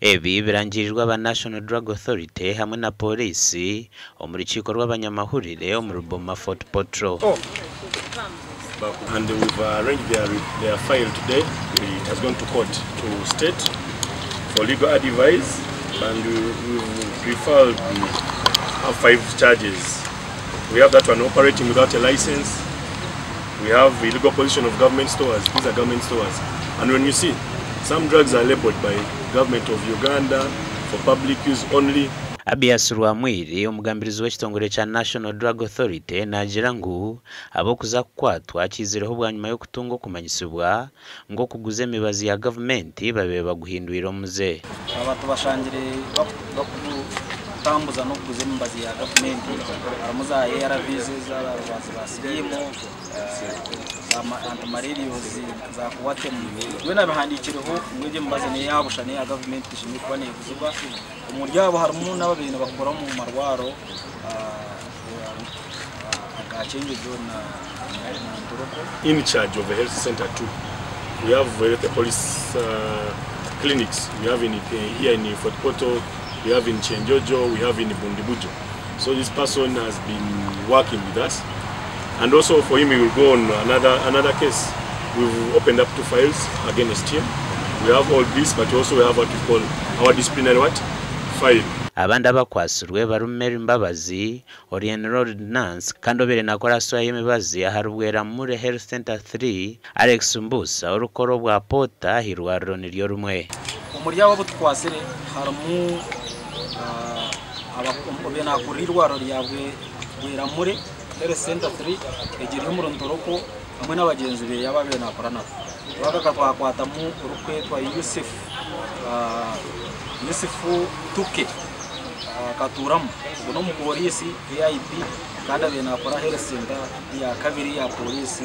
Ebi birangirirwe aba National Drug Authority hamwe na Pooriisi omu rukiiko rw'abanyamahurire omuri Boma Fort Portal. And we've arranged their, their file today. It has gone to court to state for legal advice and we've referred have five charges. We have that one operating without a license. We have illegal possession of government stores. These are government stores. And when you see, some drugs are labeled by government of Uganda for public use only. Abias Rwamwiri, omugambirizi w'ekitongore kya National Drug Authority naagira ngu ab'okuza kukwatwa kiizireho bwanyima y'okutunga okumanyisibwa ngu okuguza emibazi ya gavumenti babaire baguhindwire omuze. Aba tubashangire bakutambuza n'okuguza emibazi ya gavumenti harimu za ARVs ez'abarwazi ba siriimu, za antimalarials za Coartem byona bihandiikireho ngu egyo emibazi n'eya busha n'eya gavumenti teshemereire kuba neeguzibwa. Omuri abo harimu n'ababaire nibakora omu marwaro aga Kyenjojo na Ntoroko. In charge of a health center too. We have health police clinics. We have in here in Fort Portal, we have in Kyenjojo, we have in Bundibugyo. So this person has been working with us. And also for him, he will go on another case. We've opened up two files against him. We have all this, but also we have what we call our disciplinary what? File. Abandi abakwatsirwe barimu Mary Mbabazi ori enrolled nurse kandi obaire nakora aha y'emibazi ahari Bweramure Health Center 3, Alex Mbusa orikukora obwa porter aha irwariro niryo rimwe. Omuri abo abu tukwatsire harimu obaire nakurira eirwariro rya Bweramure Health Center 3 egiri omuri Ntoroko hamwe n'abagyenzi be abu abaire nakora nabo. Twagaruka twakwatamu orikwetwa Yusuf Yusuf Tuke Katuramu ogu n'omupooriisi AIP kandi abaire nakora Health Center ya kabiri ya pooriisi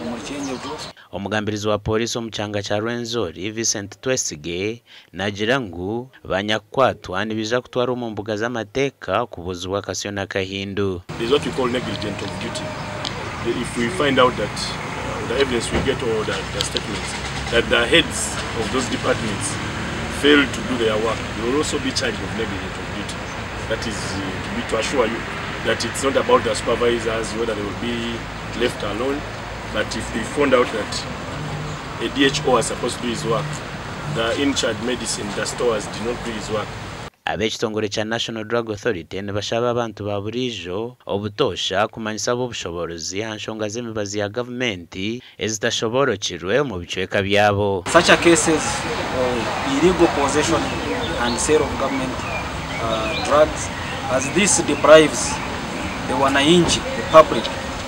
omuri Kyenjojo. Omugambirizi wa pooriisi omu kyanga kya Rwenzori, Vincent Twesige naagira ngu banyakukwatwa nibaija kutwarwa omu mbuga z'amateeka kubuuzibwa akasyo n'akahindu. There is what we call negligent of duty. If we find out that the evidence we get or the statements that the heads of those departments failed to do their work, they will also be charged of negligent of duty. That is to be to assure you that it's not about the supervisors, whether they will be left alone, but if they found out that a DHO was supposed to do his work, the in-charge medicine, the stores did not do his work. Ab'ekitongore kya National Drug Authority nibashaba abantu ba buriijo obutoosha kumanyisa ab'obushoboorozi aha nshonga z'emibazi ya gavumenti ezitashoboorokirwe omu bicweka byabo. Such a cases of illegal possession and sale of government drugs as this deprives the wananchi, the public,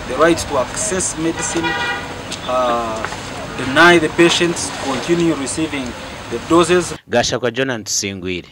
the right to access medicine, deny the patients continue receiving the doses. Gashakwa Jonah Tusingwire.